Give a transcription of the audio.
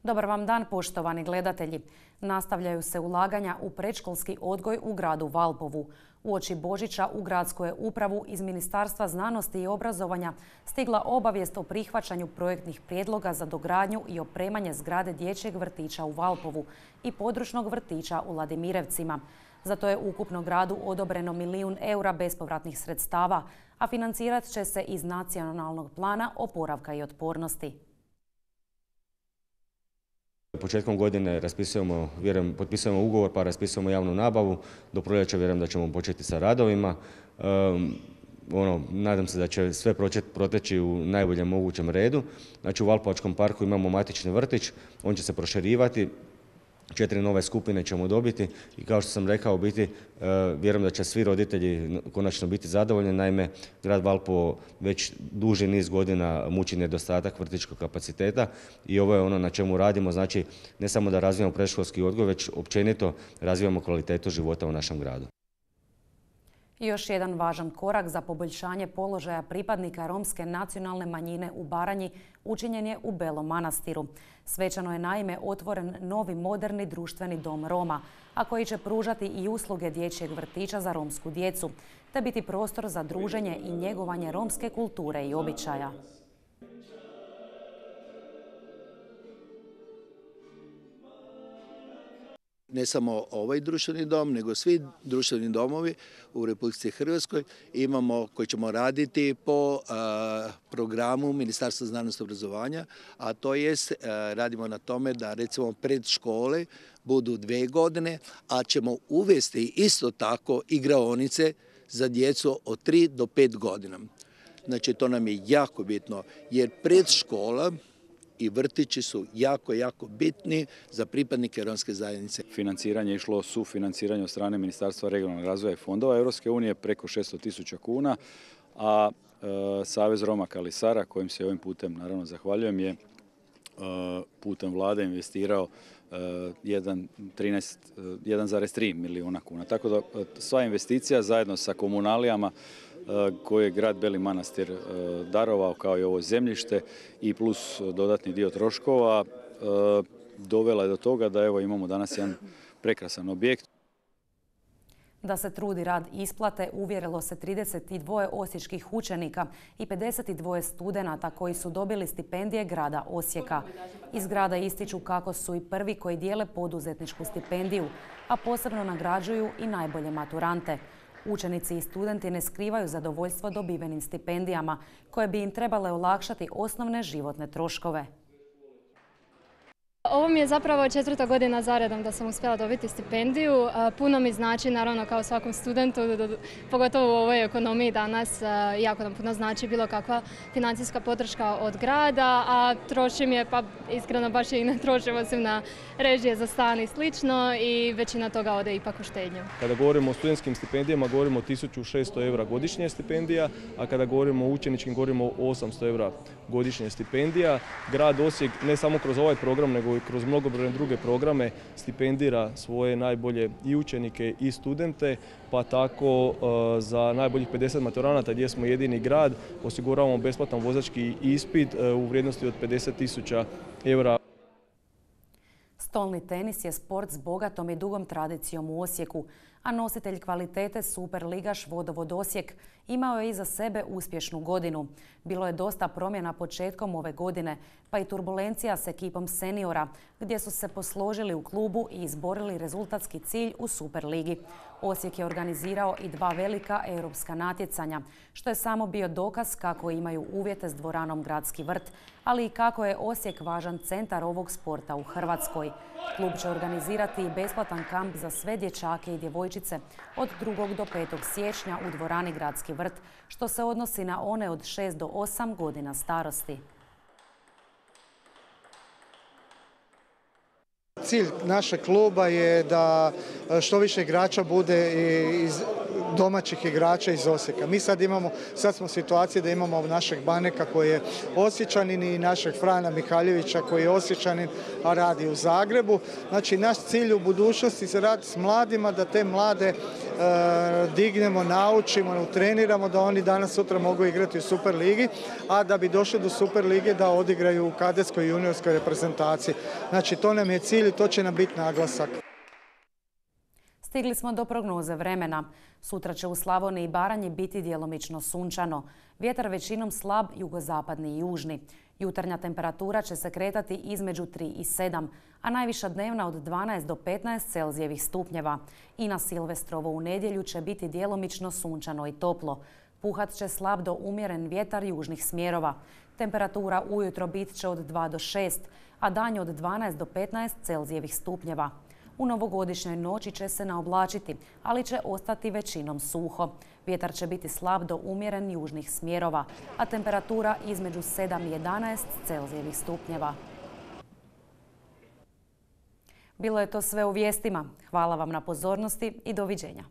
Dobar vam dan, poštovani gledatelji. Nastavljaju se ulaganja u predškolski odgoj u gradu Valpovu. Uoči Božića u gradsku je upravu iz Ministarstva znanosti i obrazovanja stigla obavijest o prihvaćanju projektnih prijedloga za dogradnju i opremanje zgrade dječjeg vrtića u Valpovu i područnog vrtića u Ladimirevcima. Za to je ukupno gradu odobreno €1.000.000 bespovratnih sredstava, a financirat će se iz Nacionalnog plana oporavka i otpornosti. Početkom godine potpisujemo ugovor pa raspisujemo javnu nabavu. Do proljeća vjerujem da ćemo početi sa radovima. Nadam se da će sve proteći u najboljem mogućem redu. Znači, u Valpovačkom parku imamo matični vrtić, on će se proširivati. 4 nove skupine ćemo dobiti i kao što sam rekao, vjerujem da će svi roditelji konačno biti zadovoljni. Naime, grad Valpovo već duži niz godina muči nedostatak vrtićkog kapaciteta i ovo je ono na čemu radimo. Znači, ne samo da razvijamo predškolski odgoj, već općenito razvijamo kvalitetu života u našem gradu. Još jedan važan korak za poboljšanje položaja pripadnika romske nacionalne manjine u Baranji učinjen je u Belom Manastiru. Svečano je naime otvoren novi moderni društveni dom Roma, a koji će pružati i usluge dječjeg vrtića za romsku djecu, te biti prostor za druženje i njegovanje romske kulture i običaja. Ne samo ovaj društveni dom, nego svi društveni domovi u Republici Hrvatskoj koji ćemo raditi po programu Ministarstva znanosti i obrazovanja, a to jest radimo na tome da recimo predškole budu 2 godine, a ćemo uvesti isto tako igraonice za djecu od 3 do 5 godina. Znači, to nam je jako bitno jer predškola i vrtići su jako, jako bitni za pripadnike romske zajednice. Financiranje je išlo sufinanciranje od strane Ministarstva regionalnog razvoja i fondova Europske unije preko 600.000 kuna, a Savez Roma Kali Sara, kojim se ovim putem naravno zahvaljujem, je putem vlade investirao 1,3 milijuna kuna. Tako da sva investicija zajedno sa komunalijama koje je grad Beli Manastir darovao kao i ovo zemljište i plus dodatni dio troškova dovela je do toga da evo imamo danas jedan prekrasan objekt. Da se trudi rad isplate uvjerilo se 32 osječkih učenika i 52 studenata koji su dobili stipendije grada Osijeka. Iz grada ističu kako su i prvi koji dijele poduzetničku stipendiju, a posebno nagrađuju i najbolje maturante. Učenici i studenti ne skrivaju zadovoljstvo dobivenim stipendijama, koje bi im trebale olakšati osnovne životne troškove. Ovo mi je zapravo 4. godina za redom da sam uspjela dobiti stipendiju. Puno mi znači, naravno, kao svakom studentu, pogotovo u ovoj ekonomiji danas, jako nam puno znači bilo kakva financijska podrška od grada, a trošim je, pa iskreno baš i ne trošim osim na režije za stan i slično i većina toga ode ipak u štednju. Kada govorimo o studentskim stipendijama, govorimo o 1.600 eura godišnje stipendija, a kada govorimo o učeničkim, govorimo o 800 eura godišnje stipendija. Grad Osijek ne samo kroz ovaj program, nego i kroz mnogobrojne druge programe stipendira svoje najbolje i učenike i studente, pa tako za najboljih 50 maturanata gdje smo jedini grad osiguravamo besplatan vozački ispit u vrijednosti od 50.000 eura. Stolni tenis je sport s bogatom i dugom tradicijom u Osijeku, a nositelj kvalitete superligaš Vodovod Osijek imao je iza sebe uspješnu godinu. Bilo je dosta promjena početkom ove godine, pa i turbulencija s ekipom seniora, gdje su se posložili u klubu i izborili rezultatski cilj u Superligi. Osijek je organizirao i 2 velika europska natjecanja, što je samo bio dokaz kako imaju uvjete s dvoranom Gradski vrt, ali i kako je Osijek važan centar ovog sporta u Hrvatskoj. Klub će organizirati i besplatan kamp za sve dječake i djevojčice od 2. do 5. siječnja u dvorani Gradski vrt, što se odnosi na one od 6 do 8 godina starosti. Cilj našeg kluba je da što više igrača bude domaćih igrača iz Osijeka. Mi sad smo u situaciji da imamo našeg Baneka koji je Osječanin i našeg Frana Mihaljevića koji je Osječanin, a radi u Zagrebu. Znači, naš cilj u budućnosti se radi s mladima, da te mlade dignemo, naučimo, utreniramo da oni danas sutra mogu igrati u Superligi, a da bi došli do Superlige da odigraju u kadetskoj i juniorskoj reprezentaciji. Znači, to nam je cilj i to će nam biti naglasak. Stigli smo do prognoze vremena. Sutra će u Slavoniji i Baranji biti djelomično sunčano. Vjetar većinom slab, jugozapadni i južni. Jutarnja temperatura će se kretati između 3 i 7, a najviša dnevna od 12 do 15 Celzijevih stupnjeva. I na Silvestrovo u nedjelju će biti djelomično sunčano i toplo. Puhat će slab do umjeren vjetar južnih smjerova. Temperatura ujutro bit će od 2 do 6, a danju od 12 do 15 Celzijevih stupnjeva. U novogodišnjoj noći će se naoblačiti, ali će ostati većinom suho. Vjetar će biti slab do umjeren južnih smjerova, a temperatura između 7 i 11 Celzijevih stupnjeva. Bilo je to sve u vijestima. Hvala vam na pozornosti i doviđenja.